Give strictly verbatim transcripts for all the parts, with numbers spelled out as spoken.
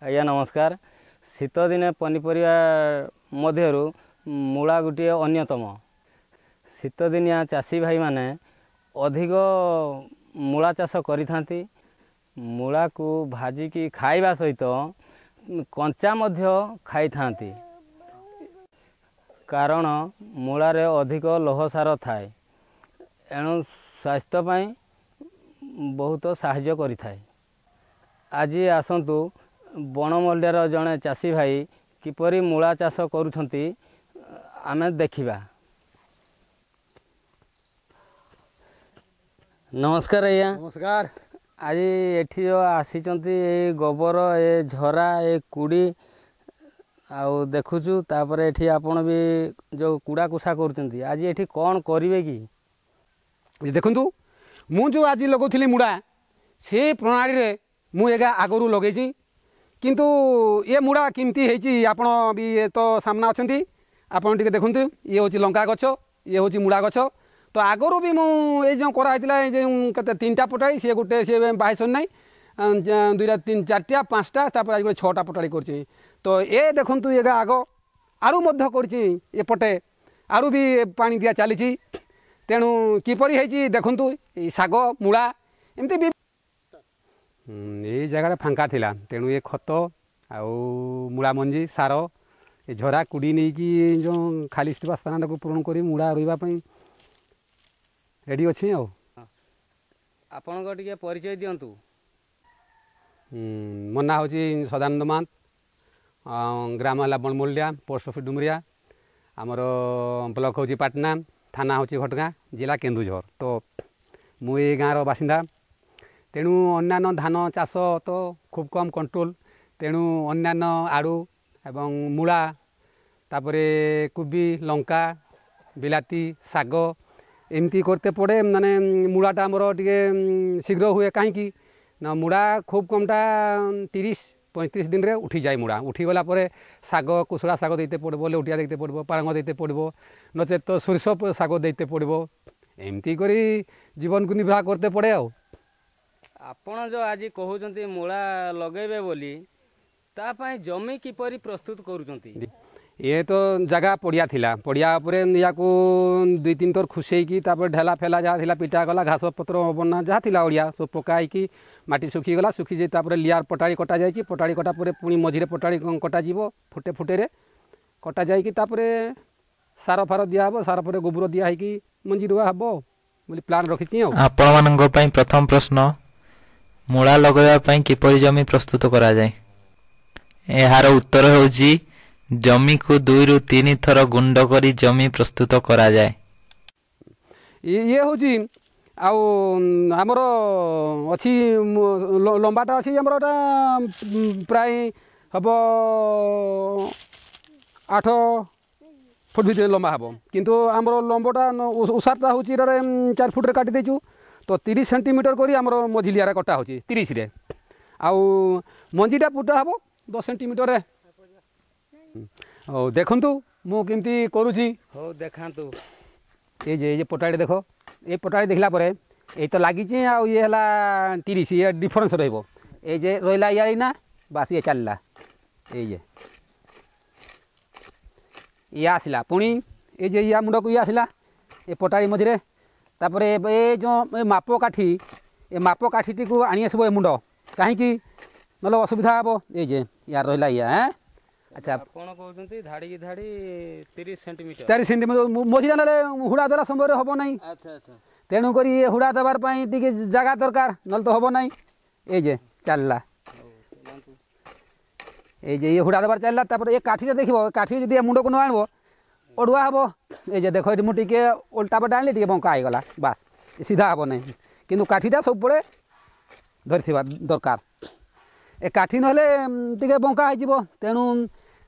ଆଜ୍ଞା ନମସ୍କାର। ଶୀତଦିନେ ପନିପରିବା ମଧ୍ୟରୁ ମୂଳା ଗୋଟିଏ ଅନ୍ୟତମ। ଶୀତଦିନିଆ ଚାଷୀ ଭାଇମାନେ ଅଧିକ ମୂଳା ଚାଷ କରିଥାନ୍ତି। ମୂଳାକୁ ଭାଜିକି ଖାଇବା ସହିତ କଞ୍ଚା ମଧ୍ୟ ଖାଇଥାନ୍ତି, କାରଣ ମୂଳାରେ ଅଧିକ ଲୌହସାର ଥାଏ, ଏଣୁ ସ୍ୱାସ୍ଥ୍ୟ ପାଇଁ ବହୁତ ସାହାଯ୍ୟ କରିଥାଏ। ଆଜି ଆସନ୍ତୁ ବଣମଲ୍ଲିଆର ଜଣେ ଚାଷୀ ଭାଇ କିପରି ମୂଳା ଚାଷ କରୁଛନ୍ତି ଆମେ ଦେଖିବା। ନମସ୍କାର ଆଜ୍ଞା। ନମସ୍କାର। ଆଜି ଏଠି ଯେଉଁ ଆସିଛନ୍ତି, ଏ ଗୋବର, ଏ ଝରା, ଏ କୁଡ଼ି ଆଉ ଦେଖୁଛୁ, ତାପରେ ଏଠି ଆପଣ ବି ଯେଉଁ କୁଡ଼ା କୁଷା କରୁଛନ୍ତି, ଆଜି ଏଠି କ'ଣ କରିବେ କି? ଦେଖନ୍ତୁ, ମୁଁ ଯେଉଁ ଆଜି ଲଗାଉଥିଲି ମୂଳା, ସେ ପ୍ରଣାଳୀରେ ମୁଁ ଏଗା ଆଗରୁ ଲଗେଇଛି, କିନ୍ତୁ ଏ ମୂଳା କେମିତି ହେଇଛି ଆପଣ ବି ତ ସାମ୍ନା ଅଛନ୍ତି, ଆପଣ ଟିକେ ଦେଖନ୍ତୁ। ଇଏ ହେଉଛି ଲଙ୍କା ଗଛ, ଇଏ ହେଉଛି ମୂଳା ଗଛ। ତ ଆଗରୁ ବି ମୁଁ ଏଇ ଯେଉଁ କରାହେଇଥିଲା, ଏଇ ଯେଉଁ କେତେ ତିନିଟା ପଟାଳି, ସିଏ ଗୋଟେ ସିଏ ବାହାରି ନାହିଁ, ଦୁଇଟା ତିନି ଚାରିଟା ପାଞ୍ଚଟା, ତାପରେ ଆଜି ଗୋଟେ ଛଅଟା ପଟାଳି କରିଛି। ତ ଏ ଦେଖନ୍ତୁ, ଏଗା ଆଗ ଆରୁ ମଧ୍ୟ କରିଛି, ଏପଟେ ଆରୁ ବି ପାଣି ଦିଆ ଚାଲିଛି। ତେଣୁ କିପରି ହେଇଛି ଦେଖନ୍ତୁ, ଏଇ ଶାଗ ମୂଳା ଏମିତି ବି ଏଇ ଜାଗାଟା ଫାଙ୍କା ଥିଲା, ତେଣୁ ଏ ଖତ ଆଉ ମୂଳା ମଞ୍ଜି, ସାର, ଏ ଝରା କୁଡ଼ି ନେଇକି ଯେଉଁ ଖାଲି ଥିବା ସ୍ଥାନଟାକୁ ପୂରଣ କରି ମୂଳା ରୋଇବା ପାଇଁ ରେଡ଼ି ଅଛି। ଆଉ ଆପଣଙ୍କ ଟିକେ ପରିଚୟ ଦିଅନ୍ତୁ। ମୋ ନାଁ ହେଉଛି ସଦାନନ୍ଦ ମହାନ୍ତ, ଗ୍ରାମ ହେଲା ବଣମୂଲ୍ୟା, ପୋଷ୍ଟ ଅଫିସ୍ ଡୁମୁରିଆ, ଆମର ବ୍ଲକ ହେଉଛି ପାଟନା, ଥାନା ହେଉଛି ଘଟଗାଁ, ଜିଲ୍ଲା କେନ୍ଦୁଝର। ତ ମୁଁ ଏଇ ଗାଁର ବାସିନ୍ଦା। ତେଣୁ ଅନ୍ୟାନ୍ୟ ଧାନ ଚାଷ ତ ଖୁବ୍ କମ୍ କଣ୍ଟ୍ରୋଲ, ତେଣୁ ଅନ୍ୟାନ୍ୟ ଆଳୁ ଏବଂ ମୂଳା, ତାପରେ କୋବି, ଲଙ୍କା, ବିଲାତି, ଶାଗ ଏମିତି କରତେ ପଡ଼େ। ମାନେ ମୂଳାଟା ଆମର ଟିକେ ଶୀଘ୍ର ହୁଏ, କାହିଁକି ନା ମୂଳା ଖୁବ୍ କମ୍ଟା ତିରିଶ ପଇଁତିରିଶ ଦିନରେ ଉଠିଯାଏ। ମୂଳା ଉଠିଗଲା ପରେ ଶାଗ, କୁଶଳା ଶାଗ ଦେଇତେ ପଡ଼ିବ, ଲେଉଟିଆ ଦେଇତେ ପଡ଼ିବ, ପାଳଙ୍ଗ ଦେଇତେ ପଡ଼ିବ, ନଚେତ ତ ସୋରିଷ ଶାଗ ଦେଇତେ ପଡ଼ିବ। ଏମିତି କରି ଜୀବନକୁ ନିର୍ବାହ କରତେ ପଡ଼େ। ଆଉ ଆପଣ ଯେଉଁ ଆଜି କହୁଛନ୍ତି ମୂଳା ଲଗେଇବେ ବୋଲି, ତା ପାଇଁ ଜମି କିପରି ପ୍ରସ୍ତୁତ କରୁଛନ୍ତି? ଇଏ ତ ଜାଗା ପଡ଼ିଆ ଥିଲା, ପଡ଼ିଆ ଉପରେ ୟାକୁ ଦୁଇ ତିନି ଥର ଖୁସେଇକି, ତାପରେ ଢେଲା ଫେଲା ଯାହା ଥିଲା ପିଟା ଗଲା, ଘାସ ପତ୍ର ବନା ଯାହା ଥିଲା ଅଳିଆ ସବୁ ପକା ହେଇକି ମାଟି ଶୁଖିଗଲା। ଶୁଖିଯାଇ ତାପରେ ଲିଆର ପଟାଳି କଟା ଯାଇଛି। ପଟାଳି କଟା ପରେ ପୁଣି ମଝିରେ ପଟାଳି କଟାଯିବ, ଫୁଟେ ଫୁଟେରେ କଟା ଯାଇକି ତାପରେ ସାର ଫାର ଦିଆହେବ, ସାର ପରେ ଗୋବର ଦିଆ ହେଇକି ମଞ୍ଜି ରୁଆ ହେବ ବୋଲି ପ୍ଲାନ୍ ରଖିଛି। ଆଉ ଆପଣମାନଙ୍କ ପାଇଁ ପ୍ରଥମ ପ୍ରଶ୍ନ, ମୂଳା ଲଗାଇବା ପାଇଁ କିପରି ଜମି ପ୍ରସ୍ତୁତ କରାଯାଏ? ଏହାର ଉତ୍ତର ହେଉଛି ଜମିକୁ ଦୁଇରୁ ତିନି ଥର ଗୁଣ୍ଡ କରି ଜମି ପ୍ରସ୍ତୁତ କରାଯାଏ। ଇଏ ହେଉଛି ଆଉ ଆମର ଅଛି ଲମ୍ବାଟା ଅଛି ଆମର, ଏଟା ପ୍ରାୟ ହେବ ଆଠ ଫୁଟ ଭିତରେ ଲମ୍ବା ହେବ, କିନ୍ତୁ ଆମର ଲମ୍ବଟା ଉଷାରଟା ହେଉଛି ଏଟାରେ ଚାରି ଫୁଟରେ କାଟି ଦେଇଛୁ। ତ ତିରିଶ ସେଣ୍ଟିମିଟର କରି ଆମର ମଝିଲିଆରେ କଟା ହେଉଛି ତିରିଶରେ, ଆଉ ମଞ୍ଜିଟା ପୁଟା ହେବ ଦଶ ସେଣ୍ଟିମିଟରରେ। ହଉ ଦେଖନ୍ତୁ ମୁଁ କେମିତି କରୁଛି। ହଉ ଦେଖାନ୍ତୁ। ଏଇ ଯେ ଏଇ ଯେ ପଟାଳି ଦେଖ, ଏଇ ପଟାଳି ଦେଖିଲା ପରେ ଏଇ ତ ଲାଗିଛି, ଆଉ ଇଏ ହେଲା ତିରିଶ, ଇଏ ଡିଫରେନ୍ସ ରହିବ। ଏଇ ଯେ ରହିଲା ଇଆ ଏଇନା ବାସ୍ ଇଏ ଚାଲିଲା, ଏଇ ଯେ ଇଏ ଆସିଲା, ପୁଣି ଏଇ ଯେ ଇଆ ମୁଣ୍ଡକୁ ଇଏ ଆସିଲା ଏ ପଟାଳି ମଝିରେ। ତାପରେ ଏ ଯେଉଁ ଏ ମାପ କାଠି, ଏ ମାପ କାଠିଟିକୁ ଆଣି ଆସିବ ଏ ମୁଣ୍ଡ, କାହିଁକି ନହେଲେ ଅସୁବିଧା ହେବ। ଏଇ ଯେ ୟାର ରହିଲା ଇଆ। ଆଚ୍ଛା, ଆପଣ କହୁଛନ୍ତି ଧାଡ଼ିକି ଧାଡ଼ି ତିରିଶ ସେଣ୍ଟିମିଟର? ତିରିଶ ସେଣ୍ଟିମିଟର ମଝିରେ, ନହେଲେ ହୁଡ଼ା ଦେଲା ସମୟରେ ହେବ ନାହିଁ। ଆଚ୍ଛା ଆଚ୍ଛା। ତେଣୁକରି ଏ ହୁଡ଼ା ଦେବାର ପାଇଁ ଟିକେ ଜାଗା ଦରକାର, ନହେଲେ ତ ହେବ ନାହିଁ। ଏଇ ଯେ ଚାଲିଲା, ଏଇ ଯେ ଇଏ ହୁଡ଼ା ଦେବାର ଚାଲିଲା। ତାପରେ ଏ କାଠିଟା ଦେଖିବ, କାଠି ଯଦି ଏ ମୁଣ୍ଡକୁ ନ ଆଣିବ ଅଡ଼ୁଆ ହେବ। ଏଇ ଯେ ଦେଖ, ଏଠି ମୁଁ ଟିକେ ଓଲଟା ପଟା ଆଣିଲି, ଟିକେ ବଙ୍କା ହେଇଗଲା, ବାସ୍ ସିଧା ହେବ ନାହିଁ। କିନ୍ତୁ କାଠିଟା ସବୁବେଳେ ଧରିଥିବା ଦରକାର। ଏ କାଠି ନହେଲେ ଟିକେ ବଙ୍କା ହେଇଯିବ, ତେଣୁ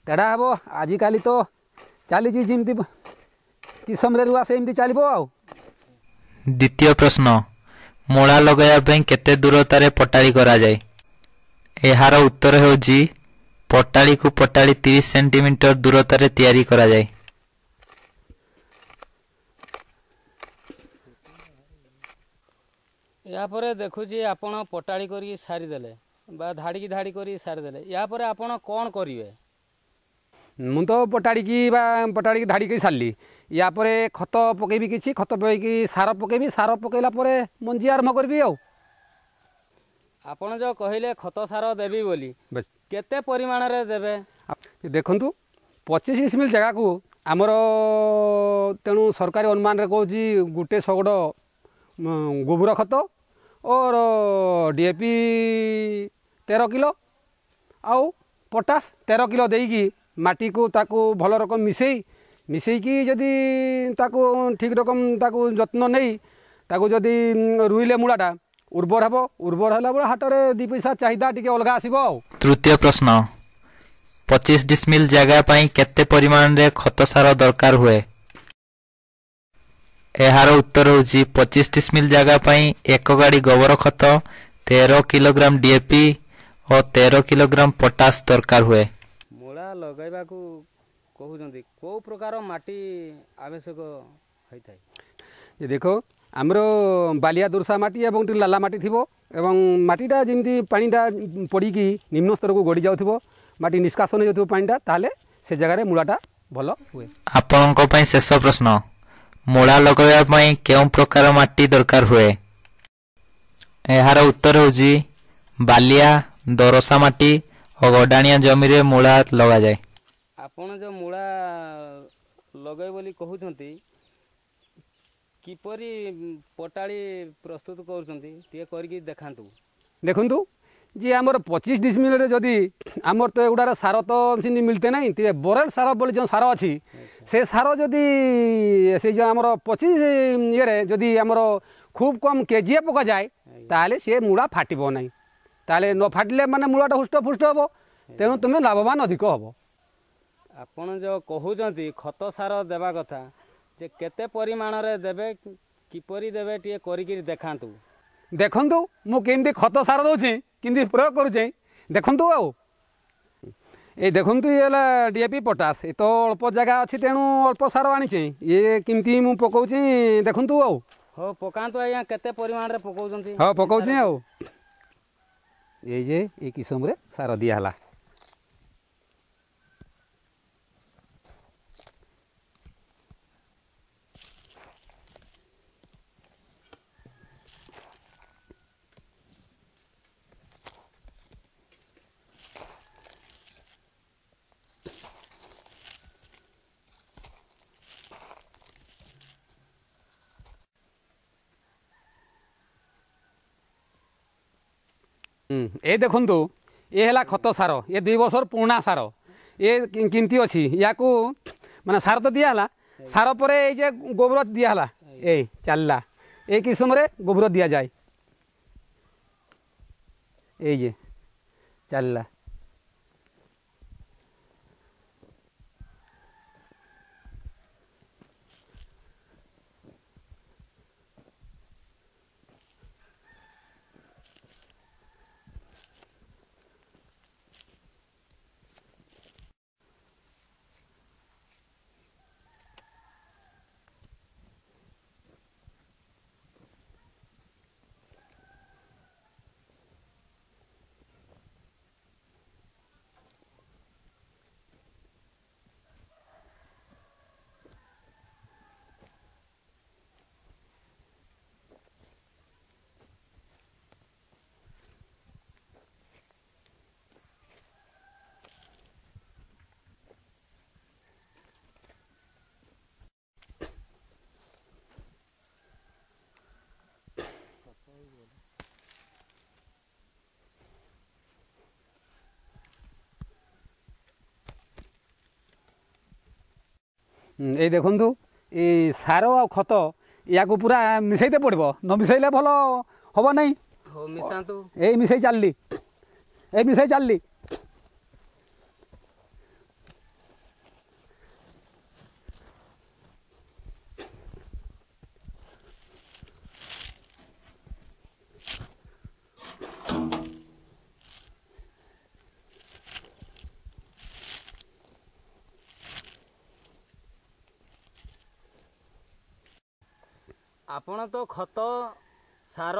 ତେଢ଼ା ହେବ। ଆଜିକାଲି ତ ଚାଲିଛି ଯେମିତି କିସମରେ ରୁଆ ସେମିତି ଚାଲିବ। ଆଉ ଦ୍ୱିତୀୟ ପ୍ରଶ୍ନ, ମୂଳା ଲଗାଇବା ପାଇଁ କେତେ ଦୂରତାରେ ପଟାଳି କରାଯାଏ? ଏହାର ଉତ୍ତର ହେଉଛି ପଟାଳିକୁ ପଟାଳି ତିରିଶ ସେଣ୍ଟିମିଟର ଦୂରତାରେ ତିଆରି କରାଯାଏ। ଏହାପରେ ଦେଖୁଛି ଆପଣ ପଟାଳି କରିକି ସାରିଦେଲେ, ବା ଧାଡ଼ିକି ଧାଡ଼ି କରି ସାରିଦେଲେ, ୟା ପରେ ଆପଣ କ'ଣ କରିବେ? ମୁଁ ତ ପଟାଡ଼ିକି ବା ପଟାଡ଼ିକି ଧାଡ଼ିକି ସାରିଲି। ୟା ପରେ ଖତ ପକେଇବି, କିଛି ଖତ ପକେଇକି ସାର ପକେଇବି। ସାର ପକେଇଲା ପରେ ମଞ୍ଜି ଆରମ୍ଭ କରିବି। ଆଉ ଆପଣ ଯେଉଁ କହିଲେ ଖତ ସାର ଦେବି ବୋଲି, କେତେ ପରିମାଣରେ ଦେବେ? ଦେଖନ୍ତୁ, ପଚିଶ ଡିସମିଲ୍ ଜାଗାକୁ ଆମର, ତେଣୁ ସରକାରୀ ଅନୁମାନରେ କହୁଛି, ଗୋଟେ ଶଗଡ଼ ଗୋବର ଖତ ଓର ଡି ଏ ପି ତେର କିଲୋ ଆଉ ପଟାସ ତେର କିଲୋ ଦେଇକି ମାଟିକୁ ତାକୁ ଭଲ ରକମ ମିଶାଇ ମିଶାଇକି ଯଦି ତାକୁ ଠିକ୍ ରକମ ତାକୁ ଯତ୍ନ ନେଇ ତାକୁ ଯଦି ରୁଇଲେ ମୂଳାଟା ଉର୍ବର ହେବ। ଉର୍ବର ହେଲା ବେଳେ ହାଟରେ ଦୁଇ ପଇସା ଚାହିଦା ଟିକେ ଅଲଗା ଆସିବ। ଆଉ ତୃତୀୟ ପ୍ରଶ୍ନ, ପଚିଶ ଡିସମିଲ ଜାଗା ପାଇଁ କେତେ ପରିମାଣରେ ଖତ ସାର ଦରକାର ହୁଏ? ଏହାର ଉତ୍ତର ହେଉଛି ପଚିଶ ଡିସମିଲ ଜାଗା ପାଇଁ ଏକ ଗାଡ଼ି ଗୋବର ଖତ, ତେର କିଲୋଗ୍ରାମ ଡିଏପି ଓ ତେର କିଲୋଗ୍ରାମ ପଟାସ ଦରକାର ହୁଏ। ମୂଳା ଲଗାଇବାକୁ କହୁଛନ୍ତି, କେଉଁ ପ୍ରକାର ମାଟି ଆବଶ୍ୟକ ହୋଇଥାଏ? ଦେଖ, ଆମର ବାଲିଆ ଦୋରସା ମାଟି ଏବଂ ଟିକେ ଲାଲା ମାଟି ଥିବ ଏବଂ ମାଟିଟା ଯେମିତି ପାଣିଟା ପଡ଼ିକି ନିମ୍ନ ସ୍ତରକୁ ଗଡ଼ି ଯାଉଥିବ, ମାଟି ନିଷ୍କାସନ ହେଇଯାଉଥିବ ପାଣିଟା, ତାହେଲେ ସେ ଜାଗାରେ ମୂଳାଟା ଭଲ ହୁଏ। ଆପଣଙ୍କ ପାଇଁ ଶେଷ ପ୍ରଶ୍ନ, ମୂଳା ଲଗାଇବା ପାଇଁ କେଉଁ ପ୍ରକାର ମାଟି ଦରକାର ହୁଏ? ଏହାର ଉତ୍ତର ହେଉଛି ବାଲିଆ ଦୋରସା ମାଟି ଓ ଗଡ଼ାଣିଆ ଜମିରେ ମୂଳା ଲଗାଯାଏ। ଆପଣ ଯେଉଁ ମୂଳା ଲଗାଇ ବୋଲି କହୁଛନ୍ତି, କିପରି ପଟାଳି ପ୍ରସ୍ତୁତ କରୁଛନ୍ତି ଟିକେ କରିକି ଦେଖାନ୍ତୁ। ଦେଖନ୍ତୁ ଯେ ଆମର ପଚିଶ ଡିସମିଲରେ ଯଦି ଆମର ତ ଏଗୁଡ଼ାର ସାର ତ ସେମିତି ମିଳିତେ ନାହିଁ, ତେବେ ବରେଲ ସାର ବୋଲି ଯେଉଁ ସାର ଅଛି, ସେ ସାର ଯଦି ସେଇ ଯେଉଁ ଆମର ପଚିଶ ଇଏରେ ଯଦି ଆମର ଖୁବ୍ କମ୍ କେଜିଏ ପକାଯାଏ, ତାହେଲେ ସେ ମୂଳା ଫାଟିବ ନାହିଁ। ତାହେଲେ ନ ଫାଟିଲେ ମାନେ ମୂଳାଟା ହୁଷ୍ଟ ଫୁଷ୍ଟ ହେବ, ତେଣୁ ତୁମେ ଲାଭବାନ ଅଧିକ ହେବ। ଆପଣ ଯେଉଁ କହୁଛନ୍ତି ଖତ ସାର ଦେବା କଥା, ଯେ କେତେ ପରିମାଣରେ ଦେବେ, କିପରି ଦେବେ, ଟିକେ କରିକିରି ଦେଖାନ୍ତୁ। ଦେଖନ୍ତୁ, ମୁଁ କେମିତି ଖତ ସାର ଦେଉଛି, କେମିତି ପ୍ରୟୋଗ କରୁଛି ଦେଖନ୍ତୁ। ଆଉ ଏଇ ଦେଖନ୍ତୁ, ଇଏ ହେଲା ଡି ଏ ପି ପଟାସ। ଏ ତ ଅଳ୍ପ ଜାଗା ଅଛି, ତେଣୁ ଅଳ୍ପ ସାର ଆଣିଛି। ଇଏ କେମିତି ମୁଁ ପକାଉଛି ଦେଖନ୍ତୁ। ଆଉ ହଉ, ପକାନ୍ତୁ ଆଜ୍ଞା, କେତେ ପରିମାଣରେ ପକାଉଛନ୍ତି? ହଁ, ପକାଉଛି। ଆଉ ଏଇ ଯେ ଏଇ କିସମରେ ସାର ଦିଆହେଲା। ଏ ଦେଖନ୍ତୁ, ଏ ହେଲା ଖତ ସାର। ଏ ଦୁଇ ବର୍ଷର ପୁରୁଣା ସାର ଏ କେମିତି ଅଛି। ୟାକୁ ମାନେ ସାର ତ ଦିଆହେଲା, ସାର ପରେ ଏଇ ଯେ ଗୋବର ଦିଆହେଲା, ଏଇ ଚାଲିଲା। ଏଇ କିସମରେ ଗୋବର ଦିଆଯାଏ। ଏଇ ଯେ ଚାଲିଲା। ଏଇ ଦେଖନ୍ତୁ, ଏଇ ସାର ଆଉ ଖତ ୟାକୁ ପୁରା ମିଶାଇତେ ପଡ଼ିବ, ନ ମିଶାଇଲେ ଭଲ ହେବ ନାହିଁ। ହଉ, ମିଶାନ୍ତୁ। ଏଇ ମିଶାଇ ଚାଲିଲି, ଏଇ ମିଶାଇ ଚାଲିଲି। ଆପଣ ତ ଖତ ସାର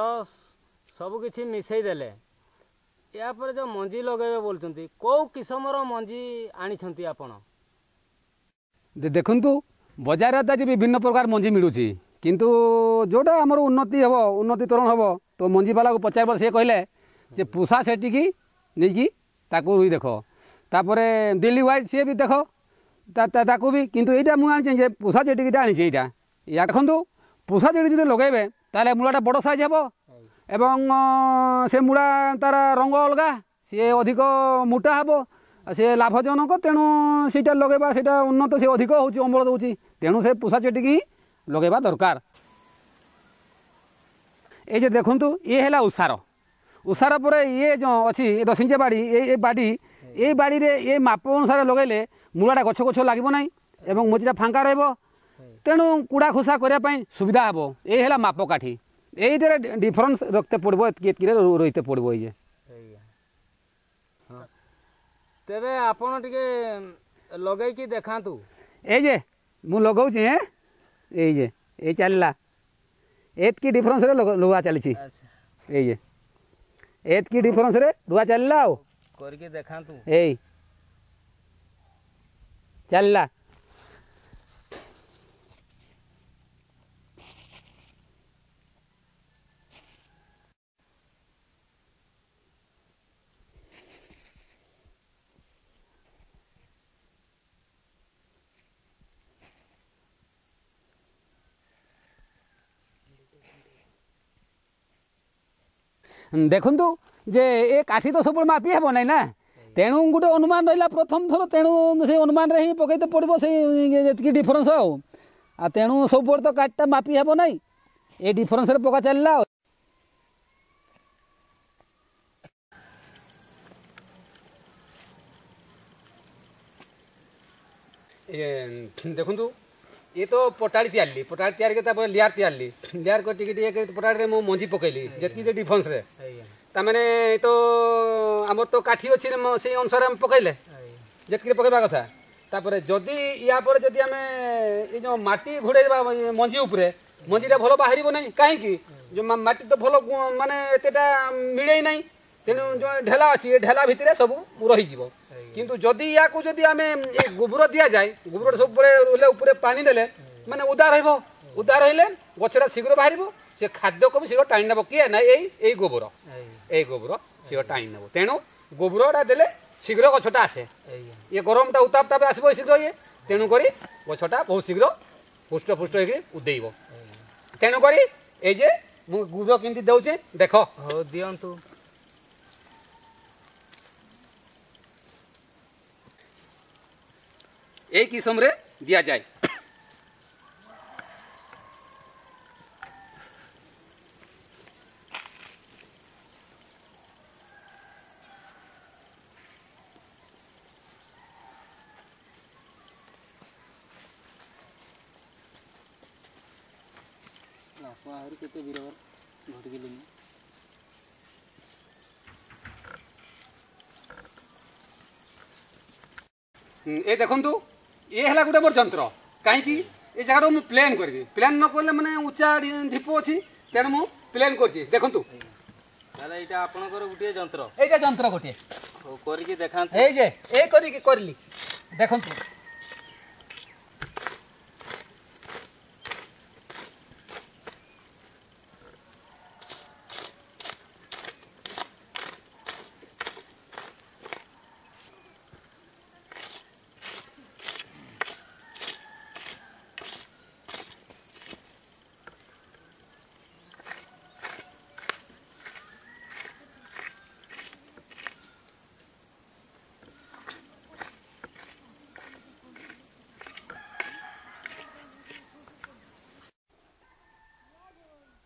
ସବୁ କିଛି ମିଶାଇ ଦେଲେ, ଏହାପରେ ଯେଉଁ ମଞ୍ଜି ଲଗାଇବେ ବୋଲୁଛନ୍ତି, କେଉଁ କିସମର ମଞ୍ଜି ଆଣିଛନ୍ତି ଆପଣ? ଦେଖନ୍ତୁ, ବଜାରରେ ତ ଆଜି ବିଭିନ୍ନ ପ୍ରକାର ମଞ୍ଜି ମିଳୁଛି, କିନ୍ତୁ ଯେଉଁଟା ଆମର ଉନ୍ନତି ହେବ, ଉନ୍ନତିକରଣ ହେବ, ତ ମଞ୍ଜିବାଲାକୁ ପଚାରିବ, ସେ କହିଲେ ଯେ ପୁଷା ସେଠିକି ନେଇକି ତାକୁ ରୁଇ ଦେଖ, ତାପରେ ଦିଲ୍ଲୀ ୱାଇଜ୍ ସିଏ ବି ଦେଖ ତାକୁ ବି। କିନ୍ତୁ ଏଇଟା ମୁଁ ଆଣିଛି ଯେ ପୁଷା ଯେଟିକିଟା ଆଣିଛି ଏଇଟା। ୟା ଦେଖନ୍ତୁ, ପୁଷା ଯେଟି ଯଦି ଲଗାଇବେ ତାହେଲେ ମୂଳାଟା ବଡ଼ ସାଇଜ୍ ହେବ ଏବଂ ସେ ମୂଳା ତାର ରଙ୍ଗ ଅଲଗା, ସିଏ ଅଧିକ ମୋଟା ହେବ, ସେ ଲାଭଜନକ। ତେଣୁ ସେଇଟା ଲଗାଇବା, ସେଇଟା ଉନ୍ନତ, ସେ ଅଧିକ ହେଉଛି, ଅମଳ ଦେଉଛି। ତେଣୁ ସେ ପୁଷା ଚେଟିକି ହିଁ ଲଗାଇବା ଦରକାର। ଏଇ ଯେ ଦେଖନ୍ତୁ, ଇଏ ହେଲା ଉଷାର। ଉଷାର ପରେ ଇଏ ଯେଉଁ ଅଛି ଏ ଦଶ ଇଞ୍ଚିଆ ବାଡ଼ି, ଏଇ ଏ ବାଡ଼ି, ଏଇ ବାଡ଼ିରେ ଏ ମାପ ଅନୁସାରେ ଲଗାଇଲେ ମୂଳାଟା ଗଛ ଗଛ ଲାଗିବ ନାହିଁ ଏବଂ ମଝିଟା ଫାଙ୍କା ରହିବ, ତେଣୁ କୁଡ଼ା ଖୁସା କରିବା ପାଇଁ ସୁବିଧା ହେବ। ଏଇ ହେଲା ମାପକାଠି। ଏଇଥିରେ ଡିଫରେନ୍ସ ରଖିତେ ପଡ଼ିବ, ଏତିକି ଏତିକିରେ ରହିତେ ପଡ଼ିବ। ଏଇ ଯେ ତେବେ ଆପଣ ଟିକେ ଲଗେଇକି ଦେଖାନ୍ତୁ। ଏଇ ଯେ ମୁଁ ଲଗାଉଛି। ହେଁ, ଏଇ ଯେ ଏଇ ଚାଲିଲା, ଏତିକି ଡିଫରେନ୍ସରେ ଲୁହା ଚାଲିଛି। ଏଇ ଯେ ଏତିକି ଡିଫରେନ୍ସରେ ରୁଆ ଚାଲିଲା। ଆଉ କରିକି ଦେଖାନ୍ତୁ। ଏଇ ଚାଲିଲା। ଦେଖନ୍ତୁ ଯେ ଏ କାଠି ତ ସବୁବେଳେ ମାପି ହେବ ନାହିଁ ନା, ତେଣୁ ଗୋଟେ ଅନୁମାନ ରହିଲା ପ୍ରଥମ ଥର, ତେଣୁ ସେଇ ଅନୁମାନରେ ହିଁ ପକାଇତେ ପଡ଼ିବ ସେଇ ଯେତିକି ଡିଫରେନ୍ସ। ଆଉ ଆଉ ତେଣୁ ସବୁବେଳେ ତ କାଠିଟା ମାପି ହେବ ନାହିଁ, ଏ ଡିଫରେନ୍ସରେ ପକା ଚାଲିଲା। ଆଉ ଦେଖନ୍ତୁ, ଇଏ ତ ପଟାଳି ତିଆରିଲି, ପଟାଳି ତିଆରି କରି ତାପରେ ଲିଆର ତିଆରିଲି, ଲିଆର କରି ଟିକେ ଟିକେ ପଟାଳିରେ ମୁଁ ମଞ୍ଜି ପକେଇଲି ଯେତିକି ଯେ ଡିଫରେନ୍ସରେ। ତାମାନେ ତ ଆମର ତ କାଠି ଅଛି, ସେଇ ଅନୁସାରେ ଆମେ ପକେଇଲେ ଯେତିକି ପକେଇବା କଥା। ତାପରେ ଯଦି ୟା ପରେ ଯଦି ଆମେ ଏଇ ଯେଉଁ ମାଟି ଘୋଡ଼େଇବା ମଞ୍ଜି ଉପରେ, ମଞ୍ଜିଟା ଭଲ ବାହାରିବ ନାହିଁ। କାହିଁକି? ଯେଉଁ ମାଟି ତ ଭଲ ମାନେ ଏତେଟା ମିଳେଇ ନାହିଁ, ତେଣୁ ଯେଉଁ ଢେଲା ଅଛି ଏ ଢେଲା ଭିତରେ ସବୁ ରହିଯିବ। କିନ୍ତୁ ଯଦି ୟାକୁ ଯଦି ଆମେ ଏ ଗୋବର ଦିଆଯାଏ, ଗୋବରଟା ସବୁବେଳେ ରହିଲେ ଉପରେ ପାଣି ଦେଲେ ମାନେ ଓଦା ରହିବ, ଓଦା ରହିଲେ ଗଛଟା ଶୀଘ୍ର ବାହାରିବ, ସେ ଖାଦ୍ୟକୁ ବି ଶୀଘ୍ର ଟାଣି ନେବ। କିଏ ନା ଏଇ ଏଇ ଗୋବର, ଏଇ ଗୋବର ଶୀଘ୍ର ଟାଣି ନେବ। ତେଣୁ ଗୋବରଟା ଦେଲେ ଶୀଘ୍ର ଗଛଟା ଆସେ, ଇଏ ଗରମଟା ଉତ୍ତାପଟା ବି ଆସିବ ଶୀଘ୍ର ଇଏ, ତେଣୁକରି ଗଛଟା ବହୁତ ଶୀଘ୍ର ପୁଷ୍ଟ ପୁଷ୍ଟ ହେଇକି ଉଦେଇବ। ତେଣୁକରି ଏଇ ଯେ ମୁଁ ଗୋବର କେମିତି ଦେଉଛି ଦେଖ। ହଉ, ଦିଅନ୍ତୁ। এই କିସମରେ ଦିଆଯାଏ। ଆହୁରି କେତେ ବିରବର ଘଟିଗଲେଣି। ଏ ଦେଖନ୍ତୁ, ଇଏ ହେଲା ଗୋଟେ ମୋର ଯନ୍ତ୍ର। କାହିଁକି ଏ ଜାଗାଟାକୁ ମୁଁ ପ୍ଲେନ୍ କରିବି, ପ୍ଲେନ୍ ନ କଲେ ମାନେ ଉଚ୍ଚା ଢିପ ଅଛି, ତେଣୁ ମୁଁ ପ୍ଲେନ୍ କରୁଛି। ଦେଖନ୍ତୁ। ତାହେଲେ ଏଇଟା ଆପଣଙ୍କର ଗୋଟିଏ ଯନ୍ତ୍ର? ଏଇଟା ଯନ୍ତ୍ର ଗୋଟିଏ। ହଉ, କରିକି ଦେଖାନ୍ତୁ। ଏଇ ଯେ ଏଇ କରିକି କରିଲି, ଦେଖନ୍ତୁ।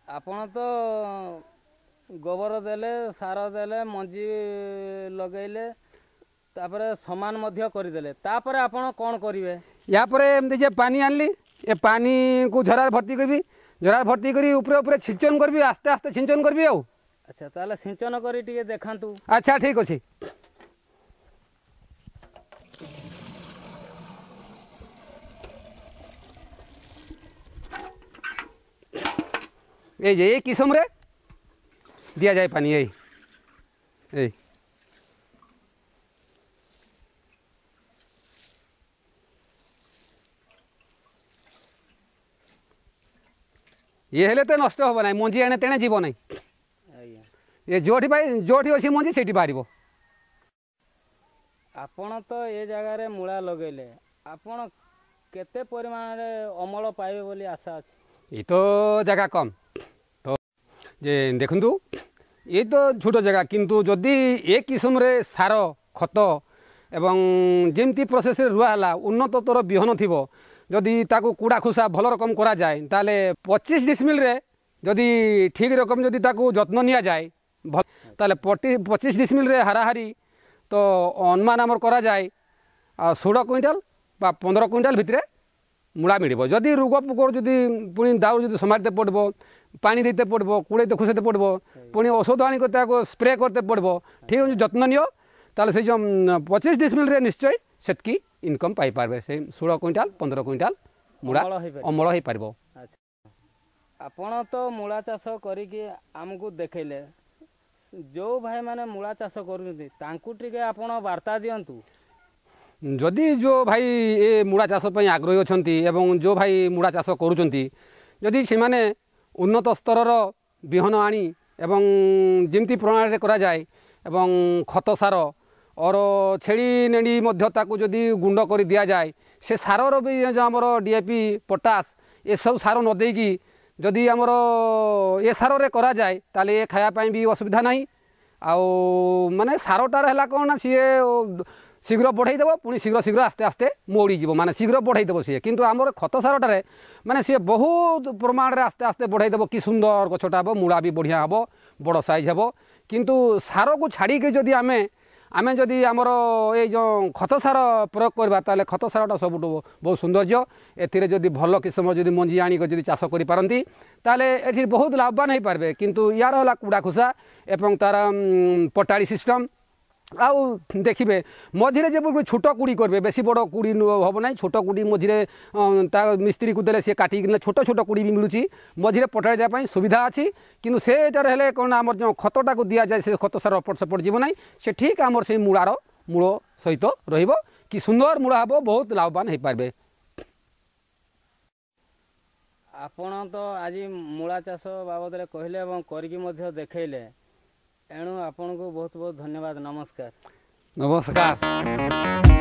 ଆପଣ ତ ଗୋବର ଦେଲେ, ସାର ଦେଲେ, ମଞ୍ଜି ଲଗେଇଲେ, ତାପରେ ସମାନ ମଧ୍ୟ କରିଦେଲେ, ତାପରେ ଆପଣ କ'ଣ କରିବେ? ୟା ପରେ ଏମିତି ଯେ ପାଣି ଆଣିଲି, ଏ ପାଣିକୁ ଝରାରେ ଭର୍ତ୍ତି କରିବି, ଝରାରେ ଭର୍ତ୍ତି କରି ଉପରେ ଉପରେ ଛିଞ୍ଚନ କରିବି, ଆସ୍ତେ ଆସ୍ତେ ଛିଞ୍ଚନ କରିବି। ଆଉ ଆଚ୍ଛା, ତାହେଲେ ସିଞ୍ଚନ କରି ଟିକେ ଦେଖାନ୍ତୁ। ଆଚ୍ଛା, ଠିକ୍ ଅଛି। এই যে এই কিসমরে দিয়াযাଏ পানি, এই এই। ଇଏ ହେଲେ ତ ନଷ୍ଟ ହେବ ନାହିଁ, ମଞ୍ଜି ଏଣେ ତେଣେ ଯିବ ନାହିଁ। ଆଜ୍ଞା ଏ ଯେଉଁଠି ପାଇ ଯେଉଁଠି ଅଛି ମଞ୍ଜି ସେଇଠି ବାହାରିବ। ଆପଣ ତ ଏ ଜାଗାରେ ମୂଳା ଲଗେଇଲେ, ଆପଣ କେତେ ପରିମାଣରେ ଅମଳ ପାଇବେ ବୋଲି ଆଶା ଅଛି? ଏ ତ ଜାଗା କମ୍ ତ, ଯେ ଦେଖନ୍ତୁ, ଏ ତ ଛୋଟ ଜାଗା, କିନ୍ତୁ ଯଦି ଏ କିସମରେ ସାର ଖତ ଏବଂ ଯେମିତି ପ୍ରୋସେସ୍ରେ ରୁଆ ହେଲା, ଉନ୍ନତତର ବିହନ ଥିବ, ଯଦି ତାକୁ କୁଡ଼ା ଖୁସା ଭଲ ରକମ କରାଯାଏ, ତାହେଲେ ପଚିଶ ଡିସମିଲରେ ଯଦି ଠିକ୍ ରକମ ଯଦି ତାକୁ ଯତ୍ନ ନିଆଯାଏ, ତାହେଲେ ପଚିଶ ଡିସମିଲରେ ହାରାହାରି ତ ଅନୁମାନ ଆମର କରାଯାଏ ଷୋହଳ କୁଇଣ୍ଟାଲ ବା ପନ୍ଦର କୁଇଣ୍ଟାଲ ଭିତରେ ମୂଳା ମିଳିବ। ଯଦି ରୋଗ ପୋକର ଯଦି ପୁଣି ଦାଉ ଯଦି ସମ୍ଭାଳିତେ ପଡ଼ିବ, ପାଣି ଦେଇତେ ପଡ଼ିବ, କୁଡ଼େଇତେ ଖୁସେଇତେ ପଡ଼ିବ, ପୁଣି ଔଷଧ ଆଣିକି ତାକୁ ସ୍ପ୍ରେ କରତେ ପଡ଼ିବ, ଠିକ୍ ଅଛି ଯତ୍ନ ନିଅ, ତାହେଲେ ସେଇ ଯେଉଁ ପଚିଶ ଡିସମିଲରେ ନିଶ୍ଚୟ ସେତିକି ଇନକମ୍ ପାଇପାରିବେ, ସେଇ ଷୋହଳ କୁଇଣ୍ଟାଲ ପନ୍ଦର କୁଇଣ୍ଟାଲ ମୂଳା ଅମଳ ହେଇପାରିବ। ଆଚ୍ଛା, ଆପଣ ତ ମୂଳା ଚାଷ କରିକି ଆମକୁ ଦେଖେଇଲେ। ଯେଉଁ ଭାଇମାନେ ମୂଳା ଚାଷ କରୁଛନ୍ତି ତାଙ୍କୁ ଟିକେ ଆପଣ ବାର୍ତ୍ତା ଦିଅନ୍ତୁ। ଯଦି ଯେଉଁ ଭାଇ ଏ ମୂଳା ଚାଷ ପାଇଁ ଆଗ୍ରହୀ ଅଛନ୍ତି ଏବଂ ଯେଉଁ ଭାଇ ମୂଳା ଚାଷ କରୁଛନ୍ତି, ଯଦି ସେମାନେ ଉନ୍ନତ ସ୍ତରର ବିହନ ଆଣି ଏବଂ ଯେମିତି ପ୍ରଣାଳୀରେ କରାଯାଏ ଏବଂ ଖତ ସାର ଅର ଛେଳି ନେଡ଼ି ମଧ୍ୟ ତାକୁ ଯଦି ଗୁଣ୍ଡ କରି ଦିଆଯାଏ, ସେ ସାରର ବି ଯେଉଁ ଆମର ଡି ଏ ପି, ପଟାସ ଏସବୁ ସାର ନ ଦେଇକି ଯଦି ଆମର ଏ ସାରରେ କରାଯାଏ, ତାହେଲେ ଏ ଖାଇବା ପାଇଁ ବି ଅସୁବିଧା ନାହିଁ। ଆଉ ମାନେ ସାରଟାର ହେଲା କ'ଣ ନା ସିଏ ଶୀଘ୍ର ବଢ଼େଇ ଦେବ, ପୁଣି ଶୀଘ୍ର ଶୀଘ୍ର ଆସ୍ତେ ଆସ୍ତେ ମଉଡ଼ିଯିବ, ମାନେ ଶୀଘ୍ର ବଢ଼େଇ ଦେବ ସିଏ। କିନ୍ତୁ ଆମର ଖତ ସାରଟାରେ ମାନେ ସିଏ ବହୁତ ପ୍ରମାଣରେ ଆସ୍ତେ ଆସ୍ତେ ବଢ଼େଇ ଦେବ, କି ସୁନ୍ଦର ଗଛଟା ହେବ, ମୂଳା ବି ବଢ଼ିଆ ହେବ, ବଡ଼ ସାଇଜ୍ ହେବ। କିନ୍ତୁ ସାରକୁ ଛାଡ଼ିକି ଯଦି ଆମେ ଆମେ ଯଦି ଆମର ଏଇ ଯେଉଁ ଖତ ସାର ପ୍ରୟୋଗ କରିବା, ତାହେଲେ ଖତ ସାରଟା ସବୁଠୁ ବହୁତ ସୌନ୍ଦର୍ଯ୍ୟ। ଏଥିରେ ଯଦି ଭଲ କିସମର ଯଦି ମଞ୍ଜି ଆଣିକି ଯଦି ଚାଷ କରିପାରନ୍ତି, ତାହେଲେ ଏଠି ବହୁତ ଲାଭବାନ ହେଇପାରିବେ। କିନ୍ତୁ ୟାର ହେଲା କୁଡ଼ା ଖୁସା ଏବଂ ତା'ର ପଟାଳି ସିଷ୍ଟମ୍। ଆଉ ଦେଖିବେ ମଝିରେ ଯେପରି ଛୋଟ କୁଡ଼ି କରିବେ, ବେଶୀ ବଡ଼ କୁଡ଼ି ହେବ ନାହିଁ, ଛୋଟ କୁଡ଼ି ମଝିରେ ତା ମିସ୍ତ୍ରୀକୁ ଦେଲେ ସିଏ କାଟିକିନା ଛୋଟ ଛୋଟ କୁଡ଼ି ବି ମିଳୁଛି, ମଝିରେ ପଟାଳି ଦେବା ପାଇଁ ସୁବିଧା ଅଛି। କିନ୍ତୁ ସେଟାରେ ହେଲେ କ'ଣ ଆମର ଯେଉଁ ଖତଟାକୁ ଦିଆଯାଏ, ସେ ଖତ ସାର ଏପଟ ସେପଟ ଯିବ ନାହିଁ, ସେ ଠିକ୍ ଆମର ସେଇ ମୂଳାର ମୂଳ ସହିତ ରହିବ, କି ସୁନ୍ଦର ମୂଳା ହେବ, ବହୁତ ଲାଭବାନ ହେଇପାରିବେ। ଆପଣ ତ ଆଜି ମୂଳା ଚାଷ ବାବଦରେ କହିଲେ ଏବଂ କରିକି ମଧ୍ୟ ଦେଖେଇଲେ, ଏଣୁ ଆପଣଙ୍କୁ ବହୁତ ବହୁତ ଧନ୍ୟବାଦ। ନମସ୍କାର। ନମସ୍କାର।